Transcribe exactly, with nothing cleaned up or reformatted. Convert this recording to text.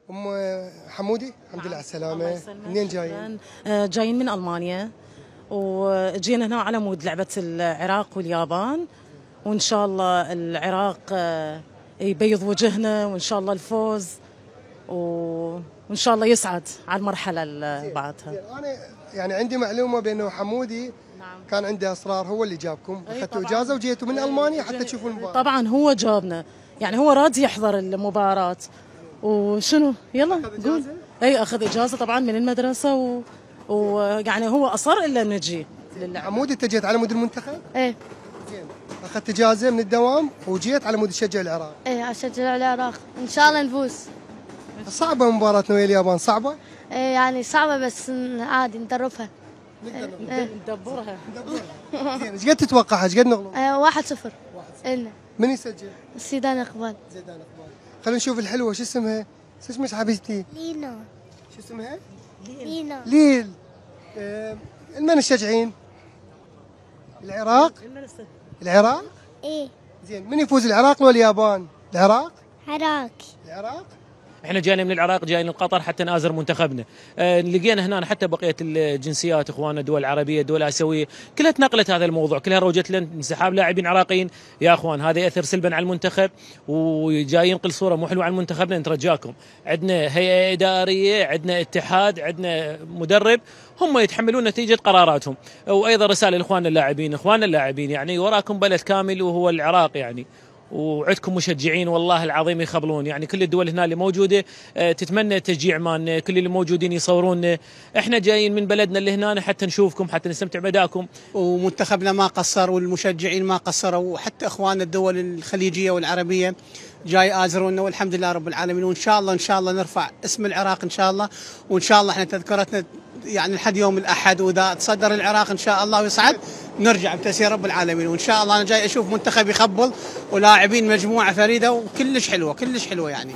ام حمودي الحمد لله على السلامه. منين جايين؟ جايين من المانيا، وجينا هنا على مود لعبه العراق واليابان، وان شاء الله العراق يبيض وجهنا وان شاء الله الفوز، وان شاء الله يصعد على المرحله اللي بعدها. انا يعني عندي معلومه بانه حمودي نعم. كان عنده اصرار، هو اللي جابكم، اخذتوا اجازه وجيتوا من المانيا حتى تشوفوا المباراه. طبعا هو جابنا، يعني هو راضي يحضر المباراه. وشنو يلا قول. اي اخذ اجازه طبعا من المدرسه، و... ويعني هو اصر الا نجي للعب. حمودي انت جيت على مود المنتخب؟ ايه زين، اخذت اجازه من الدوام وجيت على مود تشجع العراق؟ ايه اشجع العراق ان شاء الله نفوز. صعبه مباراتنا ويا اليابان؟ صعبه؟ ايه يعني صعبه بس عادي ندربها. إيه. ندبرها ندبرها. زين، ايش قد تتوقع؟ ايش قد نغلب؟ ايه واحد صفر. إلنا. من يسجل؟ زيدان اقبال. زيدان اقبال. خلينا نشوف الحلوه، شو اسمها؟ شو اسمك حبيبتي؟ لينا. شو اسمها؟ لينا. ليل. آه من تشجعين؟ العراق؟ العراق؟ ايه. زين، من يفوز العراق ولا اليابان؟ العراق؟ عراق. العراق؟ احنا جايين من العراق، جايين لقطر حتى نآزر منتخبنا. أه لقينا هنا حتى بقيه الجنسيات اخواننا، دول عربيه، دول اسيويه، كلها تنقلت هذا الموضوع، كلها روجت لنا انسحاب لاعبين عراقيين. يا اخوان هذا ياثر سلبا على المنتخب، وجاي ينقل صوره مو حلوه على منتخبنا. نترجاكم، عندنا هيئه اداريه، عندنا اتحاد، عندنا مدرب، هم يتحملون نتيجه قراراتهم. وايضا رساله لاخواننا اللاعبين، اخواننا اللاعبين يعني وراكم بلد كامل وهو العراق يعني، وعندكم مشجعين والله العظيم يخبلون، يعني كل الدول هنا اللي موجوده تتمنى التشجيع مالنا، كل اللي موجودين يصورونا. احنا جايين من بلدنا اللي هنا حتى نشوفكم، حتى نستمتع بادائكم. ومنتخبنا ما قصر والمشجعين ما قصروا، وحتى اخواننا الدول الخليجيه والعربيه جاي آزرونا، والحمد لله رب العالمين. وان شاء الله ان شاء الله نرفع اسم العراق ان شاء الله، وان شاء الله احنا تذكرتنا يعني لحد يوم الاحد، واذا تصدر العراق ان شاء الله ويصعد نرجع بتسيير رب العالمين. وان شاء الله انا جاي اشوف منتخب يخبل ولاعبين مجموعه فريده وكلش حلوه كلش حلوه يعني.